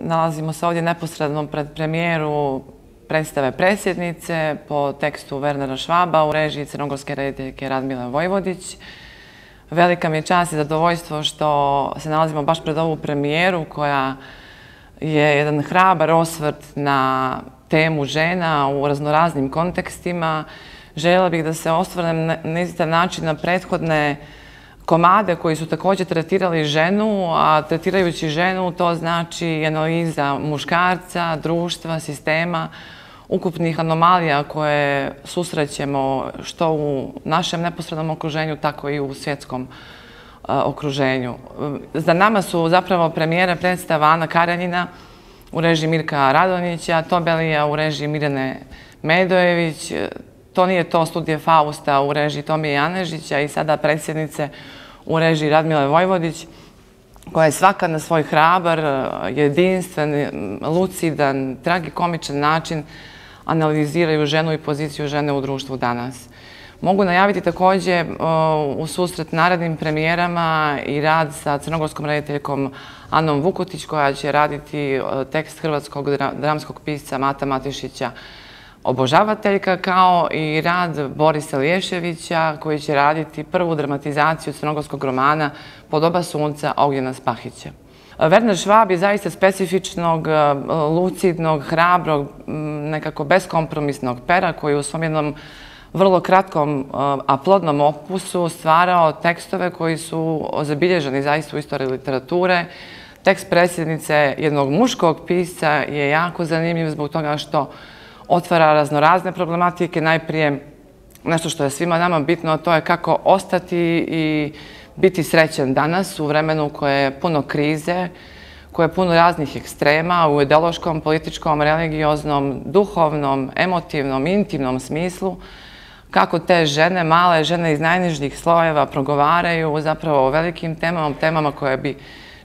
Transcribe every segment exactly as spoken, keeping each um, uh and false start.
Nalazimo se ovdje neposredno pred premijeru predstave Predsjednice po tekstu Wernera Schwaba u režiji crnogorske rediteljke Radmile Vojvodić. Velika mi je čast i zadovoljstvo što se nalazimo baš pred ovu premijeru koja je jedan hrabar osvrt na temu žena u raznoraznim kontekstima. Željela bih da se osvrnem na isti način na prethodne komade koji su također tretirali ženu, a tretirajući ženu to znači analiza muškarca, društva, sistema, ukupnih anomalija koje susrećemo što u našem neposrednom okruženju, tako i u svjetskom okruženju. Za nama su zapravo premijere predstava Ana Karenjina u režiji Mirka Radonjića, Tobelija u režiji Mirjane Medojević, To nije to studije Fausta u režiji Tomije Janežića i sada Predsjednice u režiji Radmile Vojvodić, koja je svaka na svoj hrabar, jedinstven, lucidan, tragikomičan način analiziraju ženu i poziciju žene u društvu danas. Mogu najaviti također u susret narednim premijerama i rad sa crnogorskom rediteljkom Anom Vukotić, koja će raditi tekst hrvatskog dramskog pisca Mata Matešića Obožavateljka, kao i rad Borisa Liješevića koji će raditi prvu dramatizaciju crnogorskog romana Pod oba sunca Ognjena Spahića. Werner Schwab je zaista specifičnog, lucidnog, hrabrog, nekako beskompromisnog pera koji u svom jednom vrlo kratkom, a plodnom opusu stvarao tekstove koji su zabilježeni zaista u istoriji literature. Tekst Predsjednice jednog muškog pisca je jako zanimljiv zbog toga što otvara raznorazne problematike. Najprije nešto što je svima nama bitno, a to je kako ostati i biti srećan danas u vremenu koje je puno krize, koje je puno raznih ekstrema u ideološkom, političkom, religioznom, duhovnom, emotivnom, intimnom smislu. Kako te žene, male žene iz najnižih slojeva progovaraju zapravo o velikim temama, temama koje bi,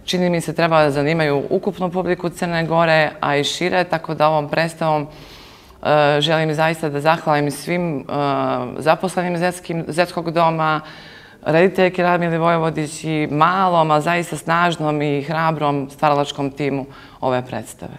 čini mi se, trebalo da zanimaju ukupnu publiku Crne Gore, a i šire, tako da ovom predstavom želim zaista da zahvalim svim zaposlenim Zetskog doma, rediteljki Radmili Vojvodić i malom, a zaista snažnom i hrabrom stvaralačkom timu ove predstave.